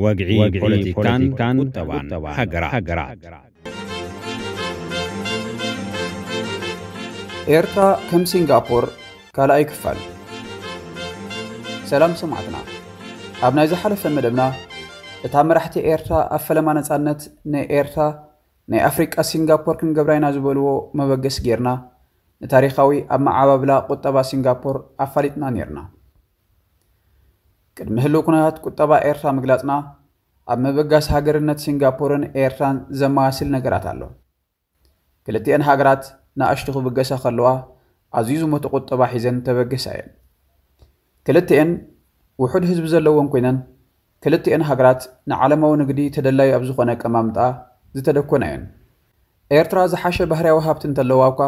ወግዒ ፖለቲካን ቁጠባን ሃገራት። ኤርትራ ከም ሲንጋፖር ካልኣይ ክፋል። ሰላም ሰማዕትና፣ ኣብ ናይ ዝሓለፈ መደብና እታ መራሕቲ ኤርትራ ኣብ ፈለማ ነጻነት ንኤርትራ ናይ ኣፍሪቃ ሲንጋፖር ክንገብራ ኢና ዝበልዎ መበገሲ ጌርና፣ ንታሪኻዊ ኣብ መዓባብላ ቁጠባ ሲንጋፖር ኣፋሊጥና ኔርና። ቅድሚ ህልው ኩነታት ቁጠባ ኤርትራ ምግላጽና፣ ኣብ ምብጋስ ሃገርነት ሲንጋፖርን ኤርትራን ዘመሳስል ነገራት ኣሎ። ክልቲኤን ሃገራት ንኣሽቱ ክብገሳ ከለዋ፣ ኣዝዩ ዝሞተ ቁጠባ ሒዘን ተበገሳ እየን። ክልቲኤን ውሑድ ህዝቢ ዘለወን ኮይነን፣ ክልቲኤን ሃገራት ንዓለማዊ ንግዲ ተደላዩ ኣብ ዝኾነ ኣቀማምጣ ዝተደኮና እየን። ኤርትራ ዝሓሸ ባህርያዊ ሃብቲ እንተለዋ እኳ፣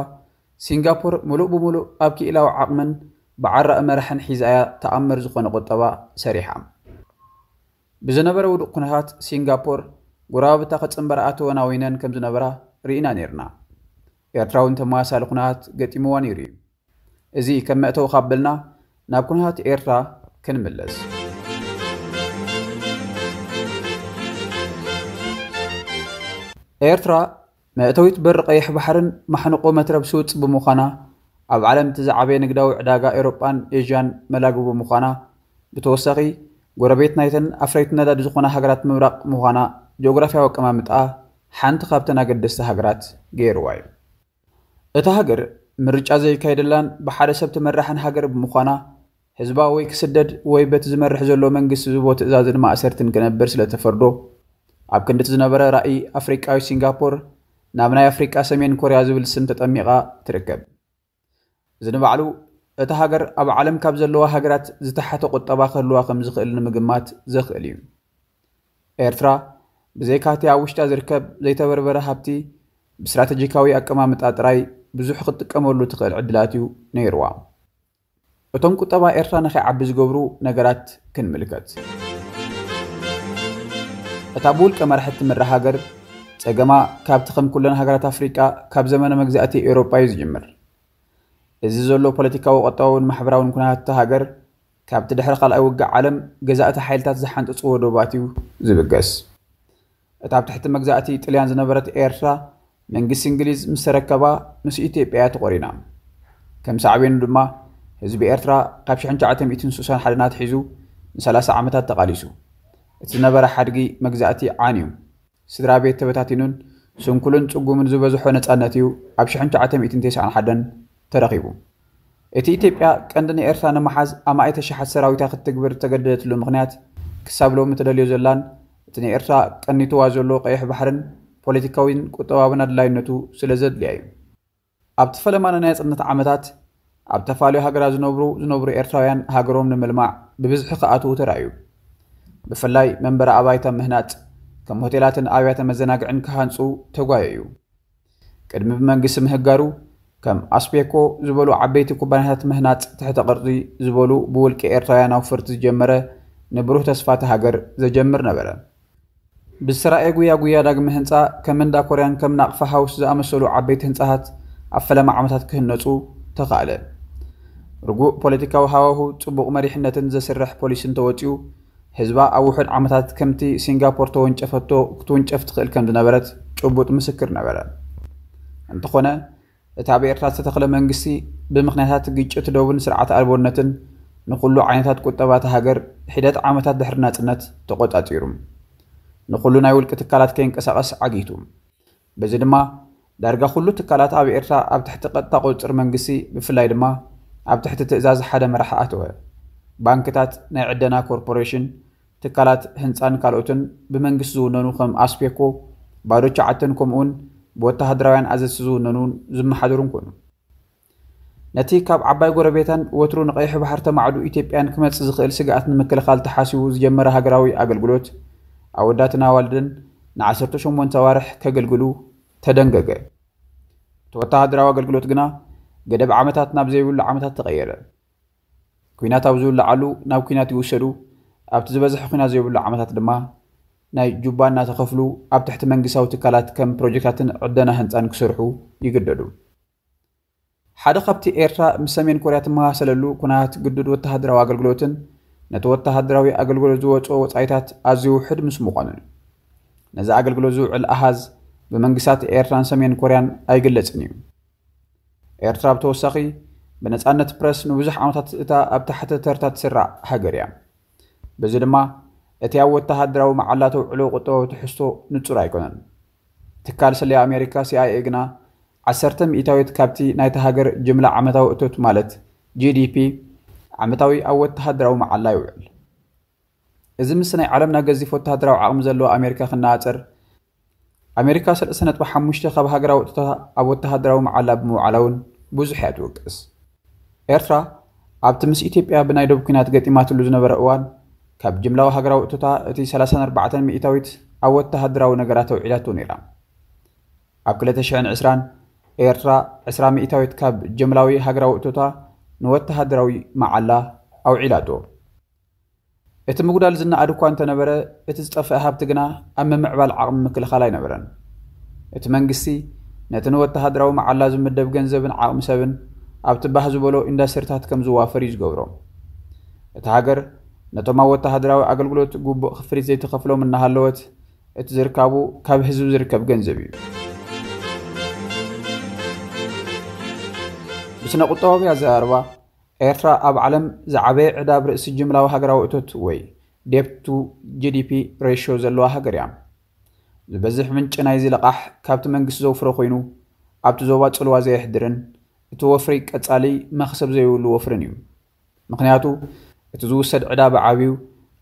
ሲንጋፖር ምሉእ ብምሉእ ኣብ ክኢላዊ ዓቕምን ብዓራኢ መራሕን ሒዛ እያ ተኣምር ዝኾነ ቁጠባ ሰሪሓ። ብዝነበረ ውዱቕ ኩነታት ሲንጋፖር፣ ጎረባብታ ክጽንበራ ኣተወናዊነን ከም ዝነበራ ርኢና ኔርና። ኤርትራ እውን ተመሳሳሊ ኩነታት ገጢምዋ ነይሩ እዩ። እዚ ከም መእተዊ ካብ በልና፣ ናብ ኩነታት ኤርትራ ክንምለስ። ኤርትራ መእተዊት በሪ ቀይሕ ባሕርን ማሕንቆ መትረብ ስውጽ ብምዃና፣ ኣብ ዓለም እቲ ዝዓበየ ንግዳዊ ዕዳጋ ኤውሮጳን ኤዥያን መላግቦ ምዃና፣ ብተወሳኺ ጎረቤት ናይተን ኣፍረይቲ ነዳዲ ዝኾና ሃገራት ምብራቕ ምዃና፣ ጂኦግራፍያዊ ኣቀማምጣኣ ሓንቲ ካብተን ኣገደስቲ ሃገራት ገይርዋ እዩ። እታ ሃገር ምርጫ ዘይካየደላን ብሓደ ሰብ ትመራሕን ሃገር ብምዃና፣ ህዝባ ወይ ክስደድ ወይ በቲ ዝመርሕ ዘሎ መንግስቲ ዝቦ ትእዛዝን ማእሰርትን ክነብር ስለ ተፈርዶ፣ ኣብ ክንዲ እቲ ዝነበረ ራእይ ኣፍሪቃዊ ሲንጋፖር፣ ናብ ናይ ኣፍሪቃ ሰሜን ኮርያ ዝብል ስም ተጠሚቓ ትርከብ። እዚ ንባዕሉ፣ እታ ሃገር ኣብ ዓለም ካብ ዘለዋ ሃገራት ዝተሓተ ቁጠባ ክህልዋ ከም ዝኽእል ንምግማት ዘኽእል እዩ። ኤርትራ፣ ብዘይካ'ቲ ኣብ ውሽጣ ዝርከብ ዘይተበርበረ ሃብቲ፣ ብስትራተጂካዊ ኣቀማምጣ ጥራይ ብዙሕ ክትጥቀመሉ ትኽእል ዕድላት እዩ ነይርዋ። እቶም ቁጠባ ኤርትራ ንኸይዓቢ ዝገብሩ ነገራት ክንምልከት። እታ ብውልቀ መራሕቲ ትምራሕ ሃገር፣ ጸገማ ካብቲ ከም ኩለን ሃገራት ኣፍሪቃ ካብ ዘመነ መግዛእቲ ኤውሮጳ እዩ ዝጅምር። እዚ ዘሎ ፖለቲካዊ፣ ቁጠባውን ማሕበራውን ኩነታት እታ ሃገር፣ ካብቲ ድሕሪ ካልኣይ ውግእ ዓለም ገዛእቲ ሓይልታት ዝሓንጸጽዎ ዶባት እዩ ዝብገስ። እታ ኣብ ትሕቲ መግዛእቲ ጥልያን ዝነበረት ኤርትራ፣ መንግስቲ እንግሊዝ ምስ ተረከባ፣ ምስ ኢትዮጵያ እያ ተቖሪና። ከም ሳዕቤኑ ድማ፣ ህዝቢ ኤርትራ ካብ ሽሕን ትሽዓተ ሚእትን ስሳን ሓደን ኣትሒዙ ንሰላሳ ዓመታት ተቓሊሱ። እቲ ዝነበረ ሓድጊ መግዛእቲ ዓንዩ፣ ስድራ ቤት ተበታቲኑን ስንኩልን ጽጉምን ዝበዝሖ ነጻነት እዩ ኣብ ሽሕን ትሽዓተ ሚእትን ተስዓን ሓደን ተረኺቡ። እቲ ኢትዮጵያ ቀንዲ ንኤርትራ ንምሓዝ ኣማኢተ ሽሓት ሰራዊታ ክትትግብር እተገደደትሉ ምኽንያት፣ ክሳብ ሎሚ ተደልዮ ዘላን እቲ ንኤርትራ ቀኒትዋ ዘሎ ቀይሕ ባሕርን ፖለቲካዊን ቁጠባውን ኣድላይነቱ ስለ ዘድልያ እዩ። ኣብቲ ፈለማ ናይ ናጽነት ዓመታት፣ ኣብ ተፋልዮ ሃገራት ዝነብሩ ዝነብሩ ኤርትራውያን ሃገሮም ንምልማዕ ብብዝሒ ክኣትዉ ተራእዩ። ብፍላይ መንበሪ ኣባይቲ ኣብ ምህናጽ፣ ከም ሆቴላትን ኣብያተ መዘናግዕን ክሃንጹ ተጓየዩ። ቅድሚ ብመንግስቲ ምህጋሩ፣ ከም ኣስፔኮ ዝበሉ ዓበይቲ ኩባንያታት ምህናጽ ትሕተ ቅርጺ ዝበሉ ብውልቂ ኤርትራውያን ኣውፈርቲ ዝጀመረ ንብሩህ ተስፋ እታ ሃገር ዘጀምር ነበረ። ብዝተራእየ ጉያ ጉያ ዳግመ ህንጻ፣ ከም እንዳ ኮርያን ከም ናቕፋ ሃውስ ዝኣመሰሉ ዓበይቲ ህንጻታት ኣብ ፈለማ ዓመታት ክህነጹ ተኻእለ። ርጉእ ፖለቲካዊ ሃዋሁ፣ ጽቡቕ መሪሕነትን ዘስርሕ ፖሊስን ተወጺኡ፣ ህዝባ ኣብ ውሑድ ዓመታት ከምቲ ሲንጋፖር ተወንጨፈቶ ክትውንጨፍ ትኽእል ከም ዝነበረት ጭቡጥ ምስክር ነበረ። እንተኾነ፣ እቲ ኣብ ኤርትራ ዝተተኽለ መንግስቲ፣ ብምኽንያታት ግጭት ዶብን ስርዓት ኣልቦነትን፣ ንኹሉ ዓይነታት ቁጠባ እታ ሃገር ሒደት ዓመታት ድሕሪ ናጽነት ተቖጻጺሩ። ንኹሉ ናይ ውልቂ ትካላት ከይንቀሳቐስ ዓጊቱ። በዚ ድማ፣ ዳርጋ ኩሉ ትካላት ኣብ ኤርትራ ኣብ ትሕቲ ቀጥታ ቁጽጽር መንግስቲ፣ ብፍላይ ድማ ኣብ ትሕቲ ትእዛዝ ሓደ መራሒ ኣተወ። ባንክታት፣ ናይ ዕደና ኮርፖሬሽን፣ ትካላት ህንጻን ካልኦትን ብመንግስቲ ዝውነኑ ከም ኣስፔኮ፣ ባዶ ቻዕትን ከምኡውን ብወተሃደራውያን ኣዘዝቲ ዝውነኑን ዝመሓደሩን ኮኑ። ነቲ ካብ ዓባይ ጎረቤታን ወትሩ ንቀይሕ ባሕሪ ተማዕዱ ኢትዮጵያን ክመጽእ ዝኽእል ስግኣት ንምክልኻል ተሓሲቡ ዝጀመረ ሃገራዊ ኣገልግሎት፣ ኣወዳትን ኣዋልድን ንዓሰርተ ሸሞንተ ኣዋርሕ ከገልግሉ ተደንገገ። እቲ ወተሃደራዊ ኣገልግሎት ግና፣ ገደብ ዓመታት ናብ ዘይብሉ ዓመታት ተቐየረ። ኲናት ኣብ ዝውልዓሉ ናብ ኲናት ይውሰዱ፣ ኣብቲ ዝበዝሐ ኲናት ዘይብሉ ዓመታት ድማ ናይ ጁባ እናተኸፍሉ ኣብ ትሕቲ መንግስታዊ ትካላት ከም ፕሮጀክታትን ዕደና ህንጻን ክሰርሑ ይግደዱ። ሓደ ካብቲ ኤርትራ ምስ ሰሜን ኮርያ ትመሳሰለሉ ኩነታት ግዱድ ወተሃደራዊ ኣገልግሎትን ነቲ ወተሃደራዊ ኣገልግሎት ዝወፅኦ ወፃኢታት ኣዝዩ ውሕድ ምስ ምዃኑን ነዚ ኣገልግሎት ዝውዕል ኣሃዝ ብመንግስታት ኤርትራን ሰሜን ኮርያን ኣይግለጽን እዩ። ኤርትራ ብተወሳኺ ብነጻነት ፕረስ ንብዙሕ ዓመታት እታ ኣብ ታሕቲ ተርታ ትስራዕ ሃገር እያ። በዚ ድማ እቲ ኣብ ወተሃደራዊ መዓላ ተውዕሎ ቁጠባዊ ትሕዝቶ ንጹር ኣይኮነን። ትካል ስለያ ኣሜሪካ ሲኣይኤ ግና ዓሰርተ ሚእታዊት ካብቲ ናይታ ሃገር ጅምላ ዓመታዊ እቶት ማለት ጂ ዲ ፒ ዓመታዊ ኣብ ወተሃደራዊ መዓላ ይውዕል። እዚ ምስ ናይ ዓለምና ገዚፍ ወተሃደራዊ ዓቕሚ ዘለዎ ኣሜሪካ ክነጻጸር ኣሜሪካ ሰለስተ ነጥቢ ሓሙሽተ ካብ ሃገራዊ እቶታ ኣብ ወተሃደራዊ መዓላ ብምውዓላ እውን ብዙሕ እያ ትውቅስ። ኤርትራ ኣብቲ ምስ ኢትዮጵያ ብናይ ዶብ ኲናት ገጢማትሉ ዝነበረ እዋን ካብ ጅምላዊ ሃገራዊ እቶታ እቲ ሰላሳን ኣርባዕተን ሚእታዊት ኣብ ወተሃደራዊ ነገራት ኣውዒላቶ ነይራ። ኣብ ክልተ ሽሕን ዕስራን ኤርትራ ዕስራ ሚእታዊት ካብ ጀምላዊ ሃገራዊ እቶታ ንወተሃደራዊ መዓላ ኣውዒላቶ። እቲ ምጉዳል ዝነኣድ እኳ እንተነበረ፣ እቲ ዝጠፍአ ሃብቲ ግና ኣብ ምምዕባል ዓቕሚ ምክልኻል ኣይነበረን። እቲ መንግስቲ ነቲ ንወተሃደራዊ መዓላ ዝምደብ ገንዘብን ዓቕሚ ሰብን ኣብቲ ባህ ዝበሎ ኢንዳስትሪታት ከም ዝዋፈር እዩ ዝገብሮ። እታ ሃገር ነቶም ኣብ ወተሃደራዊ ኣገልግሎት ግቡእ ክፍሊት ዘይትኸፍሎም እናሃለወት፣ እቲ ዝርካቡ ካብ ህዝቢ ዝርከብ ገንዘብ እዩ። ብስነ ቁጠባዊ ኣዘራርባ፣ ኤርትራ ኣብ ዓለም ዝዓበየ ዕዳ ኣብ ርእሲ ጅምላዊ ሃገራዊ እቶት ወይ debt to G D P ratio ዘለዋ ሃገር እያ። ዝበዝሕ ምንጪ ናይዚ ልቓሕ ካብቲ መንግስቲ ዘውፍሮ ኮይኑ፣ ኣብቲ ዞባ ጽልዋ ዘየሕድርን እቲ ወፍሪ ቀጻሊ መኽሰብ ዘይብሉ ወፍርን እዩ። ምኽንያቱ እቲ ዝውሰድ ዕዳ ብዓብዩ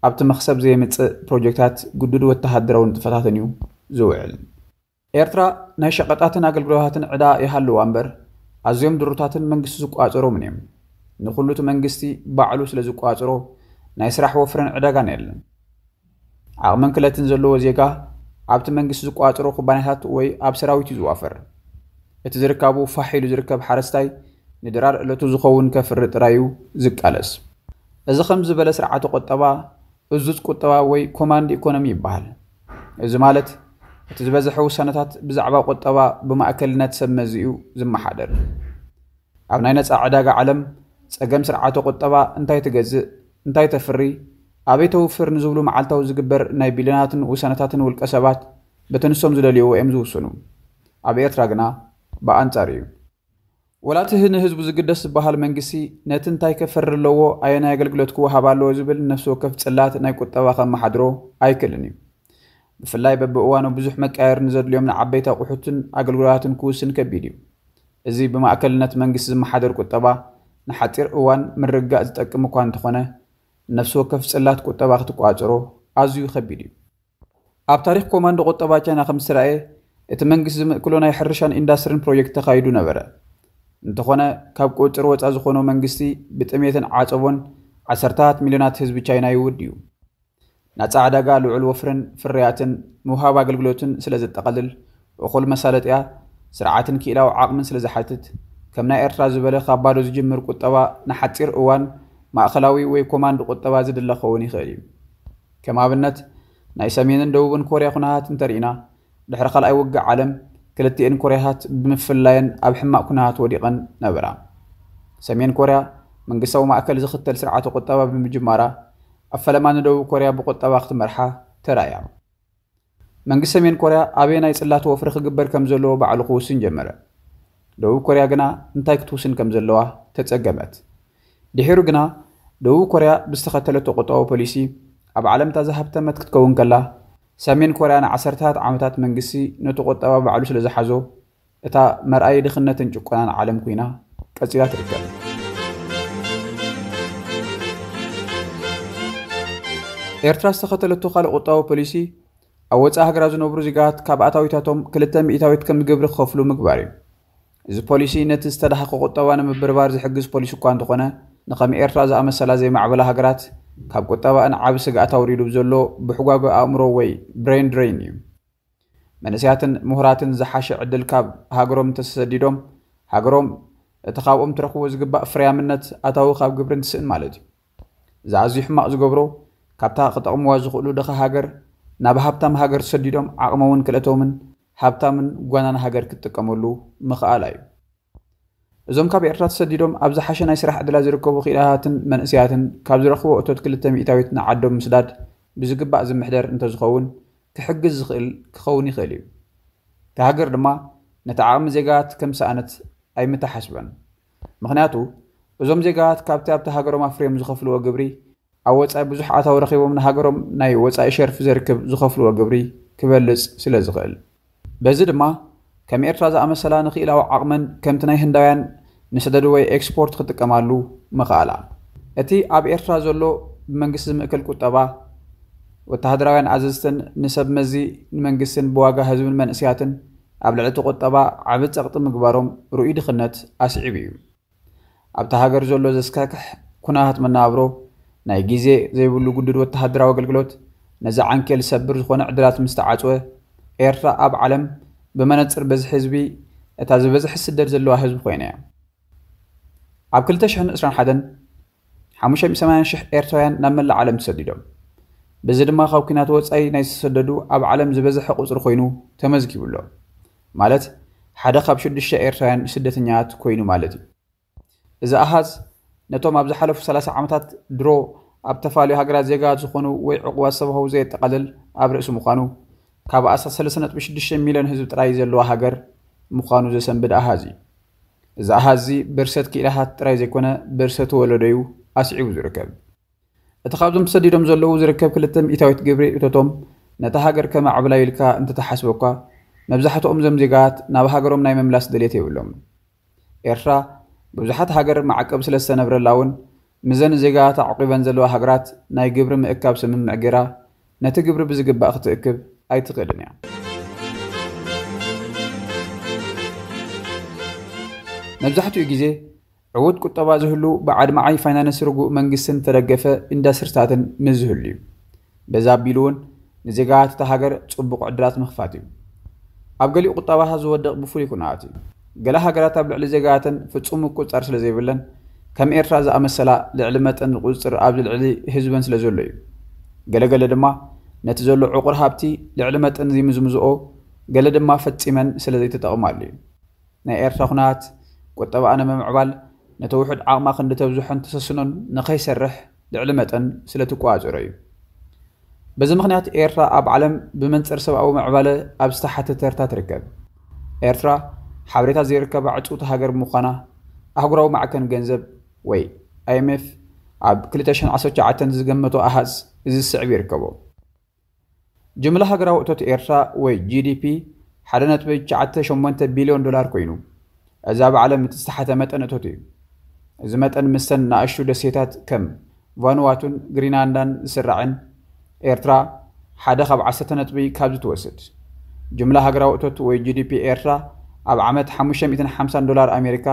ኣብቲ መኽሰብ ዘየምጽእ ፕሮጀክታት ግዱድ ወተሃደራዊ ንጥፈታትን እዩ ዝውዕል። ኤርትራ ናይ ሸቐጣትን ኣገልግሎታትን ዕዳ ይሃልዋ እምበር፣ ኣዝዮም ድሩታትን መንግስቲ ዝቋጸሮምን እዮም። ንኹሉ እቲ መንግስቲ ባዕሉ ስለ ዝቋጸሮ፣ ናይ ስራሕ ወፍርን ዕዳጋን የለን። ዓቕምን ክለትን ዘለዎ ዜጋ ኣብቲ መንግስቲ ዝቋጸሮ ኩባንያታት ወይ ኣብ ሰራዊት እዩ ዝዋፈር። እቲ ዝርካቡ ፋሕ ኢሉ ዝርከብ ሓረስታይ ንድራር ዕለቱ ዝኸውን ከፍሪ ጥራይ እዩ ዝቃለስ። እዚ ከም ዝበለ ስርዓተ ቁጠባ እዙዝ ቁጠባ ወይ ኮማንድ ኢኮኖሚ ይበሃል። እዚ ማለት እቲ ዝበዝሐ ውሳነታት ብዛዕባ ቁጠባ ብማእከልነት ሰብ መዚ እዩ ዝመሓደር። ኣብ ናይ ነጻ ዕዳጋ ዓለም ጸገም ስርዓተ ቁጠባ እንታይ ትገዝእ፣ እንታይ ተፍሪ፣ ኣበይ ተውፍር ንዝብሉ መዓልታዊ ዝግበር ናይ ቢልዮናትን ውሳነታትን ውልቀ ሰባት በቲ ንሶም ዝደልይዎ እዮም ዝውስኑ። ኣብ ኤርትራ ግና ብኣንጻር እዩ። ወላ እቲ ንህዝቡ ዝግደስ ዝበሃል መንግስቲ ነቲ እንታይ ከፈሪ ኣለዎ፣ ኣየናይ ኣገልግሎት ክወሃብ ኣለዎ ዝብል ነፍሲ ወከፍ ጽላት ናይ ቁጠባ ከመሓድሮ ኣይክእልን እዩ። ብፍላይ በብእዋኑ ብዙሕ መቃየር ንዘድልዮም ንዓበይቲ ኣቑሑትን ኣገልግሎታትን ክውስን ከቢድ እዩ። እዚ ብማእከልነት መንግስቲ ዝመሓደር ቁጠባ ንሓጺር እዋን ምርግጋእ ዝጠቅም እኳ እንተኾነ፣ ነፍሲ ወከፍ ጽላት ቁጠባ ክትቋጽሮ ኣዝዩ ከቢድ እዩ። ኣብ ታሪኽ ኮማንዶ ቁጠባ ቻይና ከም ዝተራእየ፣ እቲ መንግስቲ ዝምእክሎ ናይ ሕርሻን ኢንዳስትሪን ፕሮጀክት ተኻይዱ ነበረ። እንተኾነ፣ ካብ ቁጽር ወጻ ዝኾኖ መንግስቲ ብጥሜትን ዓጸቦን ዓሰርታት ሚልዮናት ህዝቢ ቻይና ይውድ እዩ። ናጻ ዕዳጋ ልዑል ወፍርን ፍርያትን ምውሃብ ኣገልግሎትን ስለ ዘጠቓልል፣ እኹል መሳለጥያ ስርዓትን ክኢላዊ ዓቕምን ስለ ዝሓትት፣ ከም ናይ ኤርትራ ዝበለ ካብ ባዶ ዝጅምር ቁጠባ ንሓጺር እዋን ማእከላዊ ወይ ኮማንድ ቁጠባ ዝድለ ክኸውን ይኽእል እዩ። ከም ኣብነት፣ ናይ ሰሜንን ደቡብን ኮርያ ኩነታት እንተርኢና፣ ድሕሪ ካልኣይ ውግእ ዓለም ክልቲኤን ኮርያታት ብምፍላየን ኣብ ሕማቕ ኩነታት ወዲቐን ነበራ። ሰሜን ኮርያ መንግስታዊ ማእከል ዝኽተል ስርዓተ ቁጠባ ብምጅማራ፣ ኣብ ፈለማ ንደቡብ ኮርያ ብቁጠባ ክትመርሓ ተራእያ። መንግስቲ ሰሜን ኮርያ ኣበየናይ ጽላት ወፍሪ ክግበር ከም ዘለዎ ባዕሉ ክውስን ጀመረ። ደቡብ ኮርያ ግና እንታይ ክትውስን ከም ዘለዋ ተጸገመት። ድሒሩ ግና ደቡብ ኮርያ ብዝተኸተለቶ ቁጠባዊ ፖሊሲ ኣብ ዓለም እታ ዝሃብተመት ክትከውን ከላ፣ ሰሜን ኮርያ ንዓሰርተታት ዓመታት መንግስቲ ነቲ ቁጠባ ባዕሉ ስለ ዝሓዞ፣ እታ መርኣዪ ድኽነትን ጭቆናን ዓለም ኮይና ቀጺላ ትርከብ። ኤርትራ ዝተኸተለቶ ካልእ ቁጠባዊ ፖሊሲ ኣብ ወጻኢ ሃገራት ዝነብሩ ዜጋታት ካብ ኣታዊታቶም ክልተ ሚእታዊት ከም ግብሪ ክኸፍሉ ምግባር እዩ። እዚ ፖሊሲ ነቲ ዝተዳሃኸ ቁጠባ ንምብርባር ዝሕግዝ ፖሊሲ እኳ እንተኾነ፣ ንኸም ኤርትራ ዝኣመሰላ ዘይማዕበላ ሃገራት ካብ ቁጠባኣን ዓቢ ስግኣት ኣውሪዱ ብዘሎ ብሕጓጎ ኣእምሮ ወይ ብሬን ድሬን እዩ። መንእሰያትን ምሁራትን ዝሓሸ ዕድል ካብ ሃገሮም እንተተሰዲዶም፣ ሃገሮም እቲ ካብኦም ትረኽቦ ዝግባእ ፍርያምነት ኣታዊ ካብ ግብሪ እንትስእን ማለት እዩ። እዚ ኣዝዩ ሕማቕ ዝገብሮ፣ ካብታ ክጠቕምዋ ዝኽእሉ ድኻ ሃገር ናብ ሃብታም ሃገር ተሰዲዶም ዓቕሞምን ክእለቶምን ሃብታምን ጓናን ሃገር ክትጥቀመሉ ምኽኣላ እዩ። እዞም ካብ ኤርትራ ተሰዲዶም ኣብ ዝሓሸ ናይ ስራሕ ዕድላት ዝርከቡ ክኢላታትን መንእሰያትን ካብ ዝረኽብዎ እቶት ክልተ ሚእታዊት ንዓዶም ምስዳድ ብዝግባእ ዝምሕደር እንተዝኸውን ክሕግዝ ዝኽእል ክኸውን ይኽእል እዩ። እታ ሃገር ድማ ነቲ ዓቕሚ ዜጋታት ከም ሰኣነት ኣይምተሓስበን። ምኽንያቱ እዞም ዜጋታት ካብቲ ኣብቲ ሃገሮም ኣፍርዮም ዝኸፍልዎ ግብሪ ኣብ ወጻኢ ብዙሕ ኣታዊ ረኺቦም ንሃገሮም ናይ ወጻኢ ሸርፊ ዘርክብ ዝኸፍልዎ ግብሪ ክበልጽ ስለ ዝኽእል። በዚ ድማ ከም ኤርትራ ዝኣመሰላ ንክኢላዊ ዓቕመን ከምቲ ናይ ህንዳውያን ንሰደድ ወይ ኤክስፖርት ክጥቀማሉ ምኽኣላ። እቲ ኣብ ኤርትራ ዘሎ ብመንግስቲ ዝምእከል ቁጠባ፣ ወተሃደራውያን ኣዘዝትን ንሰብ መዚ ንመንግስትን ብዋጋ ህዝብን መንእስያትን ኣብ ልዕሊ እቲ ቁጠባ ዓቢ ጸቕጢ ምግባሮም ርኡይ ድኽነት ኣስዒቡ እዩ። ኣብታ ሃገር ዘሎ ዘስካክሕ ኩነታት መነባብሮ፣ ናይ ግዜ ዘይብሉ ግዱድ ወተሃደራዊ ኣገልግሎት፣ ነዚ ዓንኬል ዝሰብር ዝኾነ ዕድላት ምስ ተዓጽወ፣ ኤርትራ ኣብ ዓለም ብመነጽር በዝሒ ህዝቢ እታ ዝበዝሐ ስደት ዘለዋ ህዝቢ ኮይና እያ። ኣብ ክልተ ሽሕን ዕስራን ሓደን ሓሙሽተ ሚእቲ ሰማንያ ሽሕ ኤርትራውያን ናብ መላእ ዓለም ተሰዲዶም። በዚ ድማ ካብ ኲናት ወጻኢ ናይ ዝተሰደዱ ኣብ ዓለም ዝበዝሐ ቁጽሪ ኮይኑ ተመዝጊቡ ኣሎ። ማለት ሓደ ካብ ሽዱሽተ ኤርትራውያን ስደተኛታት ኮይኑ ማለት እዩ። እዚ ኣሃዝ ነቶም ኣብ ዝሓለፉ ሰላሳ ዓመታት ድሮ ኣብ ተፋልዩ ሃገራት ዜጋታት ዝኾኑ ወይ ዕቑባት ሰብ ሃው ዘየጠቓልል ኣብ ርእሲ ምዃኑ፣ ካብ ኣስታት ሰለስተ ነጥቢ ሽዱሽተ ሚልዮን ህዝቢ ጥራይ ዘለዋ ሃገር ምዃኑ ዘሰንብድ ኣሃዝ እዩ። እዚ ኣሃዝ እዚ ብርሰት ክኢላታት ጥራይ ዘይኮነ ብርሰት ወለዶ እዩ ኣስዒቡ ዝርከብ። እቲ ካብዞም ተሰዲዶም ዘለዉ ዝርከብ ክልተ ሚእታዊት ግብሪ እቶቶም ነታ ሃገር ከማዕብላ ኢልካ እንተተሓስበ እኳ መብዛሕትኦም እዞም ዜጋታት ናብ ሃገሮም ናይ ምምላስ ድሌት የብሎም። ኤርትራ ብዙሓት ሃገር ማዕቀብ ስለ ዝተነብረላ እውን ምዘን ዜጋታት ኣዕቂበን ዘለዋ ሃገራት ናይ ግብሪ ምእካብ ስምምዕ ገይራ ነቲ ግብሪ ብዝግባእ ክትእክብ ኣይትኽእልን እያ። መብዛሕትኡ ግዜ ዕዉት ቁጠባ ዝህሉ ብዓድማዓይ ፋይናንስ ርጉእ መንግስትን ተደገፈ ኢንዳስትሪታትን ምስ ዝህሉ እዩ። በዛ ኣቢሉ እውን ንዜጋታት እታ ሃገር ጽቡቕ ዕድላት ምኽፋት እዩ። ኣብ ገሊኡ ቁጠባታት ዝወድቕ ብፍሉይ ኩነታት እዩ። ገለ ሃገራት ኣብ ልዕሊ ዜጋታተን ፍጹም ምቁጽጻር ስለ ዘይብለን ከም ኤርትራ ዝኣመሰላ ልዕሊ መጠን ቁጽጽር ኣብ ልዕሊ ህዝበን ስለ ዘሎ እዩ። ገለገለ ድማ ነቲ ዘሎ ዕቑር ሃብቲ ልዕሊ መጠን ዝምዝምዝኦ፣ ገለ ድማ ፈጺመን ስለ ዘይተጠቕማሉ እዩ። ናይ ኤርትራ ኩነታት ቁጠባኣ ንምምዕባል ነቲ ውሑድ ዓቕማ ክንዲ ተብዝሖን ተሰስኖን ንኸይሰርሕ ልዕሊ መጠን ስለ ትቆጻጸሮ እዩ። በዚ ምኽንያት ኤርትራ ኣብ ዓለም ብመንጽር ሰብኣዊ ምዕባለ ኣብ ዝተሓተ ተርታ ትርከብ። ኤርትራ ሓበሬታ ዘይርከባ ዕጽውቲ ሃገር ብምዃና ኣህጉራዊ ማዕከን ገንዘብ ወይ ኣይ ኤም ኤፍ ኣብ ክልተ ሽሕን ዓሰርተ ትሽዓተን ዝገመቶ ኣሃዝ እዚ ዝስዕብ ይርከቦ። ጅምላ ሃገራዊ እቶት ኤርትራ ወይ ጂ ዲ ፒ ሓደ ነጥቢ ትሽዓተ ሸሞንተ ቢልዮን ዶላር ኮይኑ፣ እዚ ኣብ ዓለም እቲ ዝተሓተ መጠን እቶት እዩ። እዚ መጠን ምስተን ንኣሽቱ ደሴታት ከም ቫኑዋቱን ግሪንላንዳን ዝስራዕን ኤርትራ ሓደ ካብ ዓሰርተ ነጥቢ ካብዚ ትወስድ። ጅምላ ሃገራዊ እቶት ወይ ጂ ዲ ፒ ኤርትራ ኣብ ዓመት ሓሙሽተ ሚእትን ሓምሳን ዶላር ኣሜሪካ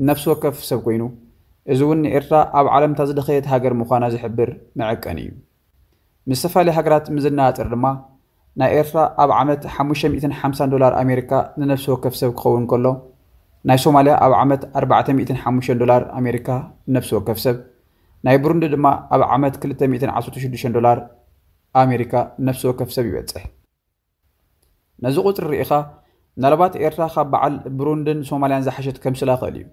ንነፍሲ ወከፍ ሰብ ኮይኑ፣ እዚ እውን ንኤርትራ ኣብ ዓለም እታ ዝደኸየት ሃገር ምዃና ዝሕብር መዐቀኒ እዩ። ምስ ዝተፈላለዩ ሃገራት ምስ ዝነጻጸር ድማ ናይ ኤርትራ ኣብ ዓመት ሓሙሽተ ሚእትን ሓምሳን ዶላር ኣሜሪካ ንነፍሲ ወከፍ ሰብ ክኸውን ከሎ፣ ናይ ሶማልያ ኣብ ዓመት ኣርባዕተ ሚእትን ሓሙሽተን ዶላር ኣሜሪካ ንነፍሲ ወከፍ ሰብ፣ ናይ ብሩንዲ ድማ ኣብ ዓመት ክልተ ሚእትን ዓሰርተ ሽዱሽተን ዶላር ኣሜሪካ ንነፍሲ ወከፍ ሰብ ይበጽሕ። ነዚ ቁጽሪ ርኢኻ ምናልባት ኤርትራ ካብ በዓል ብሩንድን ሶማልያን ዝሓሸት ከምስላ ክእል እዩ።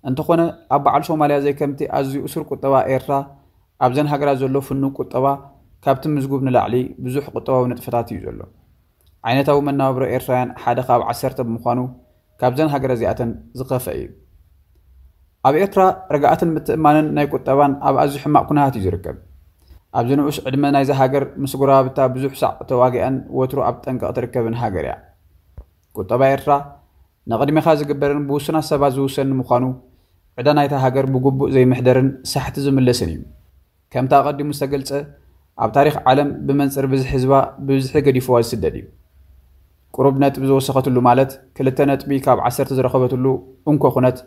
እንተኾነ ኣብ በዓል ሶማልያ ዘይከምቲ ኣዝዩ እሱር ቁጠባ ኤርትራ ኣብዘን ሃገራት ዘሎ ፍኑው ቁጠባ ካብቲ ምዝጉብ ንላዕሊ ብዙሕ ቁጠባዊ ንጥፈታት እዩ ዘሎ። ዓይነታዊ መነባብሮ ኤርትራውያን ሓደ ካብ ዓሰርተ ብምዃኑ ካብዘን ሃገራት እዚኣተን ዝኸፍአ እዩ። ኣብ ኤርትራ ርግኣትን ምትእምማንን ናይ ቁጠባን ኣብ ኣዝዩ ሕማቕ ኩነታት እዩ ዝርከብ። ኣብዚ ንኡስ ዕድመ ናይዛ ሃገር ምስ ጎረባብታ ብዙሕ ሳዕ ተዋጊኣን ወትሩ ኣብ ጠንቂ እትርከብን ሃገር እያ። ቁጠባ ኤርትራ ንቕድሜኻ ዝግበርን ብውሱናት ሰባት ዝውሰንን ምዃኑ ዕዳ ናይታ ሃገር ብግቡእ ዘይምሕደርን ሳሕቲ ዝምለስን እዩ። ከምቲ ኣቐዲሙ ዝተገልጸ ኣብ ታሪኽ ዓለም ብመንጽር ብዝሒ ህዝባ ብብዝሒ ገዲፍዋ ዝስደድ እዩ። ቁሩብ ነጥቢ ዝወሰኸትሉ ማለት ክልተ ነጥቢ ካብ ዓሰርተ ዝረኸበትሉ እንኮ ኩነት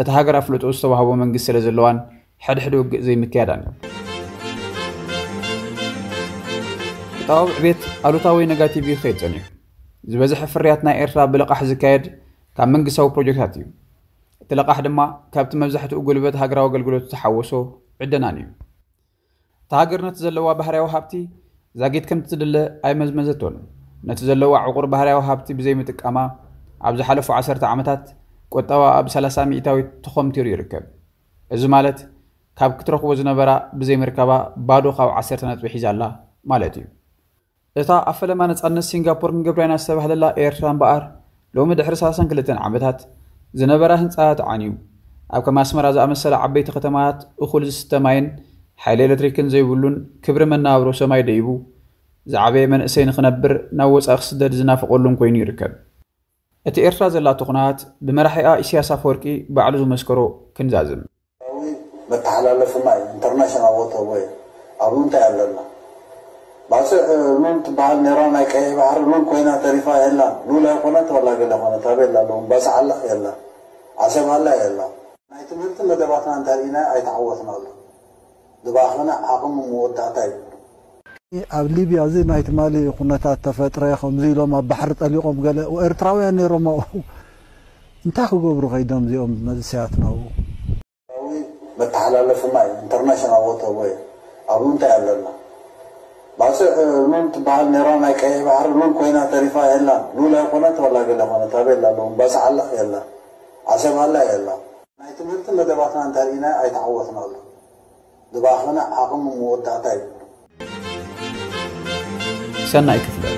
እታ ሃገር ኣፍልጦ ዝተዋህቦ መንግስቲ ስለ ዘለዋን ሕድሕድ ውግእ ዘይምክያዳን እዩ። ቁጠባዊ ዕቤት ኣሉታዊ ወይ ነጋቲቭ እዩ ክኸይድ ጸኒሑ። ዝበዝሐ ፍርያት ናይ ኤርትራ ብልቓሕ ዝካየድ ካብ መንግስታዊ ፕሮጀክታት እዩ። እቲ ለቓሕ ድማ ካብቲ መብዛሕትኡ ጉልበት ሃገራዊ ኣገልግሎት ዝተሓወሶ ዕደናን እዩ። እታ ሃገር ነቲ ዘለዋ ባህርያዊ ሃብቲ ዛጊት ከምቲ ትድለ ኣይመዝመዘቶን። ነቲ ዘለዋ ዕቑር ባህርያዊ ሃብቲ ብዘይምጥቃማ ኣብ ዝሓለፉ ዓሰርተ ዓመታት ቁጠባ ኣብ ሰላሳ ሚእታዊት ተኾምቲሩ ይርከብ። እዚ ማለት ካብ ክትረኽቦ ዝነበራ ብዘይ ምርካባ ባዶ ካብ ዓሰርተ ነጥቢ ሒዛ ኣላ ማለት እዩ። እታ ኣብ ፈለማ ነጻነት ሲንጋፖር ክንገብራ ኢና ዝተባህለላ ኤርትራ እምበኣር፣ ሎሚ ድሕሪ ሰላሳን ክልተን ዓመታት ዝነበራ ህንጻታት ዓንዩ፣ ኣብ ከም ኣስመራ ዝኣመሰላ ዓበይቲ ከተማታት እኹል ዝስተ ማይን ሓይሊ ኤሌክትሪክን ዘይብሉን፣ ክብሪ መነባብሮ ሰማይ ደይቡ ዝዓበየ መንእሰይ ንኽነብር ናብ ወጻኢ ክስደድ ዝናፍቐሉን ኮይኑ ይርከብ። እቲ ኤርትራ ዘላቶ ኩነታት ብመራሒኣ ኢሳያስ ኣፈወርቂ ባዕሉ ዝመስከሮ ክንዛዝም። መተሓላለፊ ማይ ኢንተርናሽናል ዋተርወይ ኣብኡ እንታይ ኣለና? ባጽዕ ሉል ትበሃል ነይራ፣ ናይ ቀይሕ ባሕሪ ሉል ኮይና ተሪፋ የላን። ሉል ኣይኮነት ዋላ ገለ ኮነት ኣበይ ኣላ ኣለዉ? ባጽዕ ኣላ የላ፣ ዓሰብ ኣላ የላ። ናይ ትምህርቲ መደባትና እንተሪኢና ኣይተዓወትናሉ። ዝባኸነ ዓቕሚ መወዳእታ ይብሉ። ኣብ ሊብያ እዚ ናይ ትማሊ ኩነታት ተፈጥረ ከምዚ ኢሎም ኣብ ባሕሪ ጠሊቖም ገለ ኤርትራውያን ነይሮም ኣብኡ። እንታይ ክገብሩ ከይዶም እዚኦም መንእሰያት ናብኡ? መተሓላለፊ ማይ ኢንተርናሽናል ዋተርወይ ኣብኡ እንታይ ኣለና? ባጽዕ ሉል ትበሃል ነይራ፣ ናይ ቀይሕ ባሕሪ ሉል ኮይና ተሪፋ የላን። ሉል ኣይኮነት ዋላ ገለ ኮነት ኣበይ ኣላ ኣለዉ? ባጽዕ ኣላ የላ፣ ዓሰብ ኣላ የላ። ናይ ትምህርቲ መደባትና እንተሪኢና ኣይተዓወትናሉ። ዝባኸነ ዓቕሚ መወዳእታ ይብሉ። ሰናይ ክፍለ